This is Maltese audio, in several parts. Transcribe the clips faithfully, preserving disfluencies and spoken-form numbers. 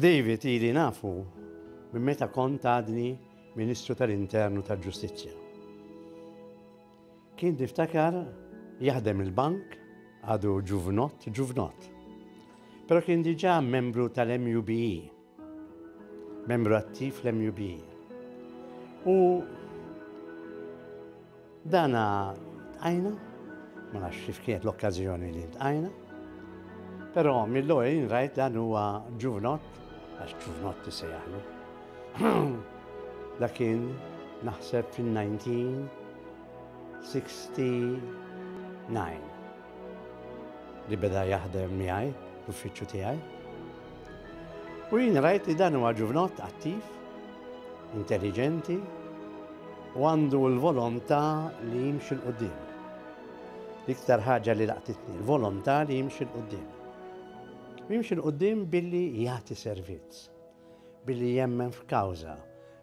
David ili nafu minn meta kont għadni Ministru tal-Internu tal-Ġustizzja. Kien niftakar jaħdem il-bank, għadu ġuvnott, ġuvnott. Però kien diġà membru tal-M U B E, membru attiv l-M U B E. U dana ltqajna, ma nafx kif kienet l-okkażjoni li ltqajna, però mill-ewwel rajt dan huwa ġuvnott, għax ġuvnott isejjaħlu. Dak kien naħseb fil-elef disa' mija u sitta u disgħin li beda jaħdem miegħi l-uffiċċju tiegħi. U jien rajt li dan huwa ġuvnott attiv, intelligenti u għandu l-volontà li jimxi 'l quddiem. L-iktar ħaġa li laqtitni, l-volontà li jimxi 'l quddiem. U jimxi 'l quddiem billi jagħti servizz, billi jemmen f'kawża,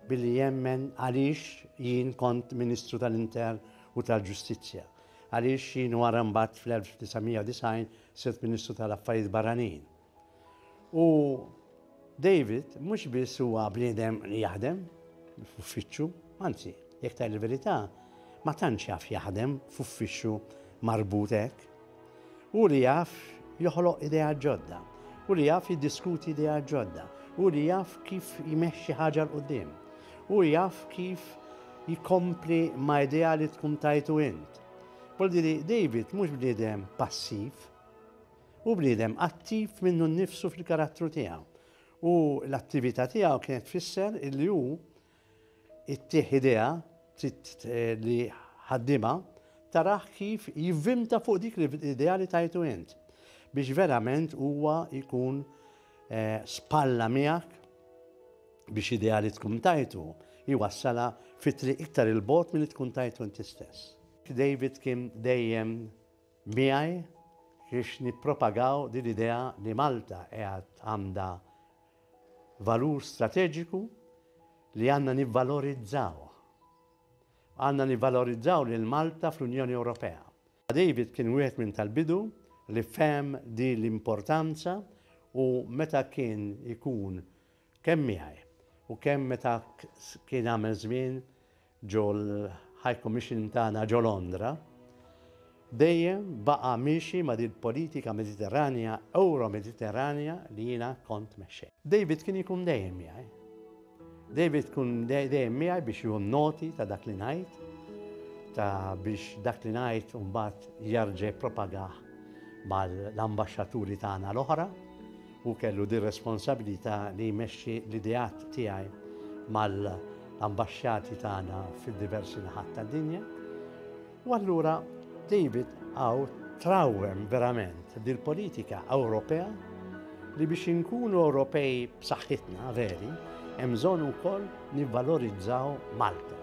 billi jemmen għaliex jien kont Ministru tal-Intern u tal-Ġustizzja, għaliex jien wara mbagħad fl-elf disa' mija u disgħin sirt Ministru tal-Affarijiet Barranin. U David mhux biss huwa bniedem li jaħdem f'uffiċċju, anzi, jekk tgħid il-verità, ma tantx jaf jaħdem f'uffiċċju marbut hekk. U li jaf joħloq idea ġodda, u li jaf jiddiskuti idea ġodda, u li jaf kif jmexxi ħaġa 'l quddiem, u jaf kif jikompli ma' idea li tkun tajtu int. Vuol David mhux bniedem passiv, u bniedem attiv minnu nnifsu fil-karattru tiegħu. U l-attività tiegħu kienet tfisser illi hu ittih idea li ħaddima taraħ kif jivvinta fuq dik l-idea li tajtu int biex verament huwa jkun eh, spalla miegħek biex idea li tkun tajtu jwassala fit-triq iktar 'il bogħod milli tkun tajtu inti stess. David kien dejjem miegħi biex nippropagaw din l-idea li Malta qiegħed għandha valur strateġiku li għandna nivvalorizzaw. Għandna nivvalorizzaw lil Malta fl-Unjoni Ewropea. David kien wieħed minn tal-bidu li fehem di l-importanza u meta kien ikun kemm miegħi u kemm meta kien għamel żmien ġo l-High Commission tagħna ġo Londra, dejjem baqa' miexi ma' din politika Mediterranja, Euro-Mediterranja li jiena kont mexxej. David kien ikun dejjem miegħi. David kun dejjem miegħi biex jieħu noti ta' dak li ngħid, ta' biex dak li ngħid mbagħad jerġa' jippropagah mal-ambaxxaturi tagħna l-oħra u kellu di responsabilità li jmexxi l-ideat tiegħi mal-ambaxxati tagħna fil-diversi naħat tad-dinja. U allura David għaw trawem verament dil-politika Ewropea li biex inkunu Ewropej b'saħħitna veri, hemm bżonn ukoll nivvalorizzaw Malta.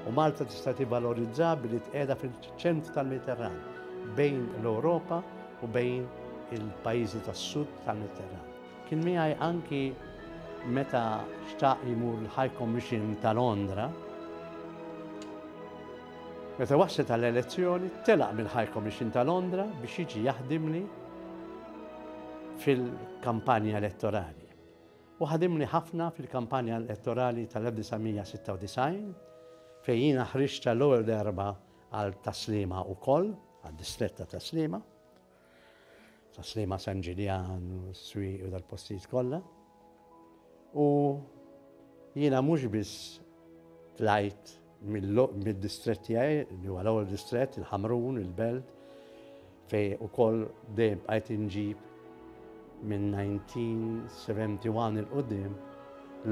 U Malta tista' tivvalorizza billi tqiegħda fil-ċentru tal-Mediterran, bejn l-Ewropa u bejn il-pajjiżi tas-sud tal-Mediterran. Kien miegħi anki meta xtaq jmur l-High Commission ta' Londra. Meta waslet għall-elezzjoni, telaq mill-High Commission ta' Londra biex jiġi jaħdimli fil-kampanja elettorali. U ħadimli ħafna fil-kampanja elettorali tal-elf disa' mija u sitta u disgħin fejn jiena ħriġt l-ewwel darba għal Tas-Sliema ukoll, għad-distrett ta' Tas-Sliema. Tas-Sliema, San Ġiljan, u Swieqi u dal-postijiet kollha. U jiena mhux biss tlajt mid-distrett tiegħi, li huwa l-ewwel distrett, il-Ħamrun, il-Belt, fejn ukoll dejjem bqajt inġib minn elf disa' mija u wieħed u sebgħin 'il quddiem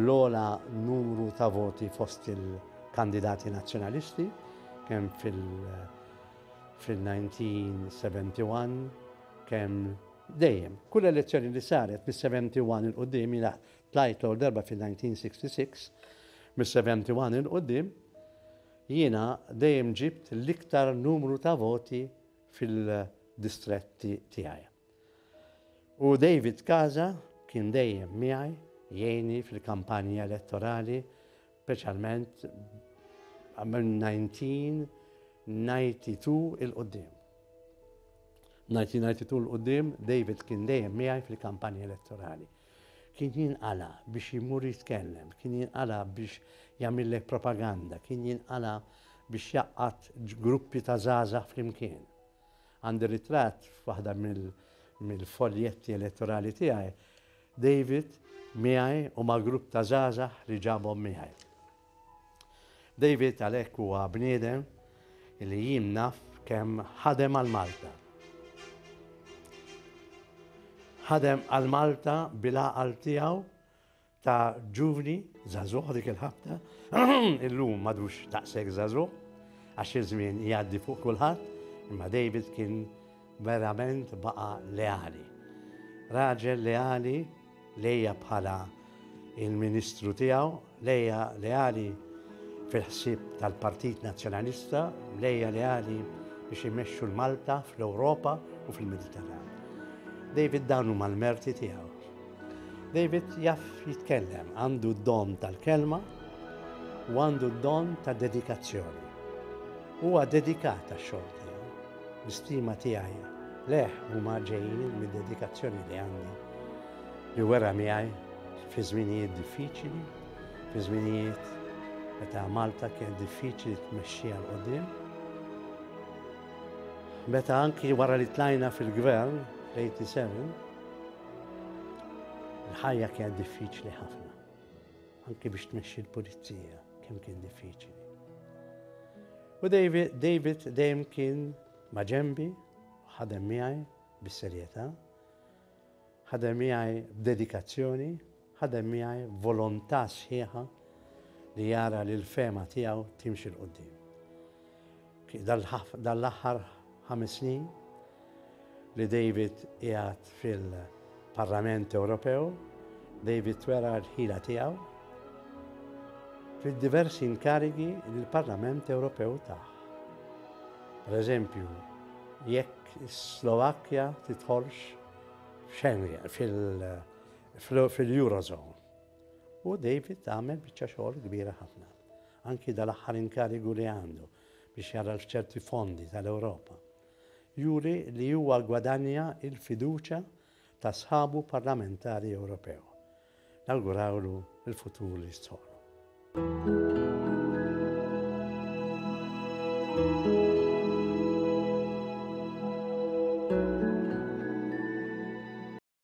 l-ogħla numru ta' voti fost il-kandidati nazzjonalisti, kemm fil- fil-elf disa' mija u wieħed u sebgħin, kemm dejjem. Kull elezzjoni li saret mis-sebgħa u sebgħin 'il quddiem, jiena tlajt l darba fil-elf disa' mija u sitta u sittin, mis-sebgħa u sebgħin 'il quddiem, jiena dejjem ġibt l-iktar numru ta' voti fil-distretti tiegħi. U David Casa kien dejjem miegħi jgħinni fil-kampanja elettorali, speċjalment minn elf disa' mija u tnejn u disgħin 'il quddiem. elf disa' mija u tnejn u disgħin 'il quddiem David kien dejjem miegħi fil-kampanja elettorali. Kien jinqala biex jimur jitkellem, kien jinqala biex jagħmillek propaganda, kien jinqala biex jgħaqqad gruppi ta' żgħażagħ flimkien. Għandi ritratt f'waħda mill-foljetti elettorali tiegħi, David miegħi u ma' grupp ta' żgħażagħ li ġabhom miegħi. David għalhekk huwa bniedem li jien naf kemm ħadem għal Malta. Ħadem għal Malta bil-għaqal tiegħu ta' ġuvni, żagħżugħ dik il-ħabta, illum m'għadux daqshekk żagħżugħ, għax iż-żmien jgħaddi fuq kulħadd, imma David kien verament baqa' leali. Raġel leali lejja bħala il-ministru tiegħu, lejja leali fil-ħsieb tal-Partit Nazzjonalista, lejja leali biex imexxu l-Malta fl-Ewropa u fil-Mediterran. David dan huma l-merti tiegħu. David jaf jitkellem, għandu d-don tal-kelma u għandu d-don ta' dedikazzjoni. Huwa dedikat għax-xogħol tiegħu. L-istima tiegħi lejh huma ġejjin mid-dedikazzjoni li għandi li wera miegħi fi żminijiet diffiċli, fi żminijiet meta Malta kien diffiċli tmexxija 'l quddiem. Meta anki wara li tlajna fil-gvern fl-tmienja u sebgħin, il-ħajja kienet diffiċli ħafna. Anki biex tmexxi l-pulizija, kemm kien diffiċli. U David, David dejjem kien ma' ġembi, ħadem miegħi bis-serjetà, ħadem miegħi b'dedikazzjoni, ħadem miegħi volontà sħiħa li jara li l-fehma tiegħu timxi 'l quddiem. Dal-aħħar ħames snin li David qiegħed fil-Parlament Ewropew, David wera l-ħila tiegħu fil-diversi inkarigi li l-Parlament Ewropew tah. Per eżempju, jekk Slovakkja tidħolx f'Schengen, fil-Eurozone. U David għamel biċċa xogħol kbira ħafna. Anki dal-aħħar inkarigu li għandu biex jara ċerti fondi tal-Ewropa. Juri li huwa gwadanja il-fiduċa ta' sħabu parlamentari Ewropew. Nawgurawlu il-futur li jistħoqqlu.